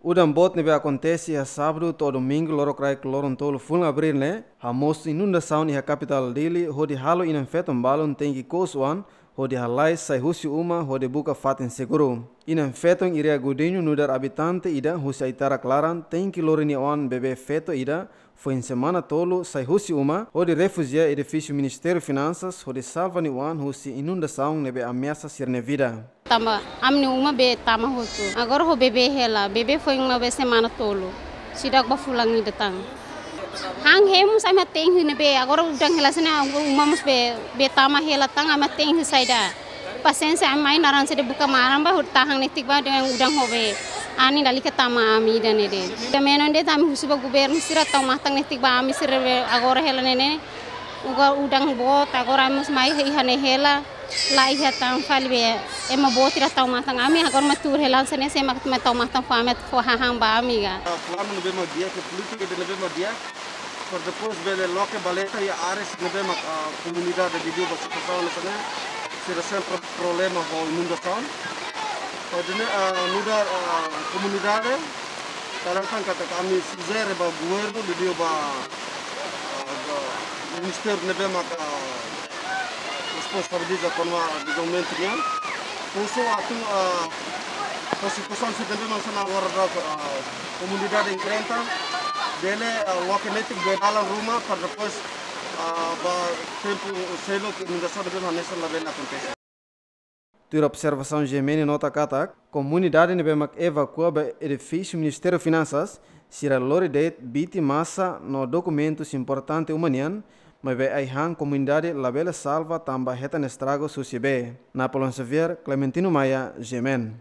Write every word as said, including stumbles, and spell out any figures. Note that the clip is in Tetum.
Udan boot ne'ebé akontese iha sábadu to'o domingu lorokraik loron tolu fulan abríl ne'e, hamosu inundasaun iha kapitál Dili, hodi halo inan-feton balun tenke kous oan, hodi halai sai husi uma, hodi buka fatin seguru. Inan-feton Iria Godinho nu'udar abitante ida husi Aitarak Laran, tenke lori nia oan bebé feto ida, foin semana tolu sai husi uma, hodi refújiu iha edifísiu Ministériu Finansas, hodi salva nia oan husi inundasaun ne'ebé ameasa sira-nia vida. Tanba ami-nia uma be tama hotu. Agora ho bebé hela, bebé foin ne'ebé semana tolu. Seidauk ba fulan ida tan. Han hemu sai matein ne'ebé, agora udan hela sene uma mós be, be tama hela tan, ami matein saida. Pasiénsia, ami mai naran sede buka maran ba, hodi tahan netik ba, dehan udan ho be. Anin lalika tama ami ida ne'e de'it. Ida menon de'it ami husu ba governu sira tau matan netik ba ami sira be agora hela ne'e ne'e. Uga udan boot, agora ami mós mai iha ne'e hela. La iha tan fali be, ema boot ida tau matan ami, agora mak tuur hela sene se mak tau matan fó ami fó hahán ba ami ga. Ah, planu ne'ebé mak di'ak, ke polítika ida ne'ebé mak di'ak. Para depois bele loke baleta iha áreas ne'ebé mak, ah, komunidade liuliu ba situasaun ne'e sira sempre problema ho inundasaun. Para ne'e, ah, nu'udar, ah, komunidade, tanba katak ami sujere ba governu liuliu ba, ah, ba ministériu ne'ebé mak, ah, responsabiliza kona-ba dezenvolvimentu nian. Husu atu, ah, ba situasaun sira ne'ebé mak hanesan agora daudaun, ah, komunidade enfrenta, bele, ah, loke netik be dalan ruma para depois, ah, ba tempu seluk inundasaun ne'ebé mak hanesan labele akontese. Tuir observasaun G M N nota katak, komunidade ne'ebé mak evakua ba edifísiu Ministériu Finansas, sira lori de'it biti masa no dokumentus importante uma nian, maibé ai-han komunidade labele salva tanba hetan estragu husi bee. Napoleon Xavier, Clementino Maia, G M N.